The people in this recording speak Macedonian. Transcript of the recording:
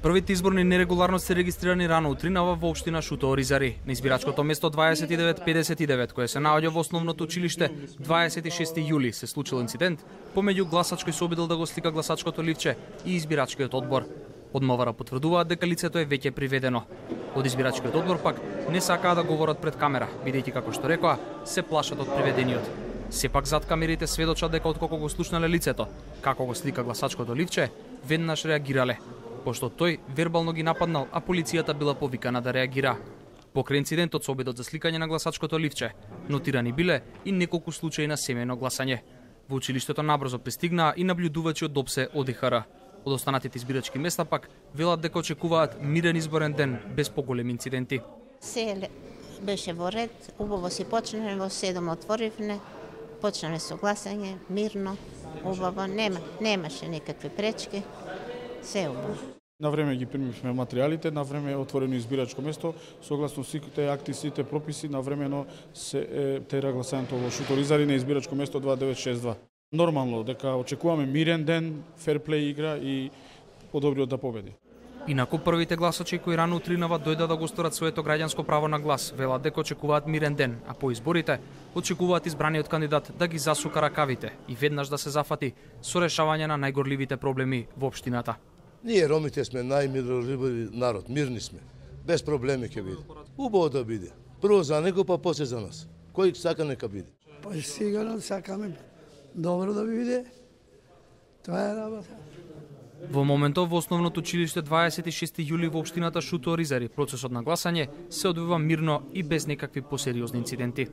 Првите изборни нерегуларности се регистрирани рано утринава во општина Шуто Оризари. На избирачкото место 2959, кое се наоѓа во основното училиште, 26 јули се случил инцидент помеѓу гласач кој се обидел да го слика гласачкото ливче и избирачкиот одбор. Од МВР потврдуваат дека лицето е веќе приведено. Од избирачкиот одбор пак не сакаа да говорат пред камера, бидејќи како што рекоа, се плашат од приведениот. Сепак зад камерите сведочат дека откако го слушнале лицето, како го слика гласачкото ливче, веднаш реагирале, пошто тој вербално ги нападнал, а полицијата била повикана да реагира. Покрај инцидентот со обидот за сликање на гласачкото ливче, нотирани биле и неколку случаи на семејно гласање. Во училиштето набрзо пристигнаа и наблюдувачи од ДОПСЕ ОДИХР. Од останатите избирачки места пак велат дека очекуваат мирен изборен ден без поголеми инциденти. Се беше во ред, убаво си почнеме, во 7 отворивме, почнеме со гласање, мирно, убаво, немаше никакви пречки, се убаво. На време ги примивме материјалите, на време е отворено избирачко место, согласно сите акти, сите прописи, на времено се тера гласањето во Шуто Оризари на избирачко место 2962. Нормално дека очекуваме мирен ден, ферплей игра и подобриот да победи. Инаку првите гласачи кои рано утринава дојда да го сторат своето граѓанско право на глас, велат дека очекуваат мирен ден, а по изборите очекуваат избраниот кандидат да ги засука ракавите и веднаш да се зафати со решавање на најгорливите проблеми во општината. Ние ромите сме најмиролюбиви народ, мирни сме, без проблеми ќе биде. Убаво да биде. Прво за него, па после за нас. Кој сака нека биде. Па сигурно сакаме добро да биде. Тоа е работа. Во моментов во основното училиште 26 јули во општината Шуто Оризари процесот на гласање се одвива мирно и без некакви посериозни инциденти.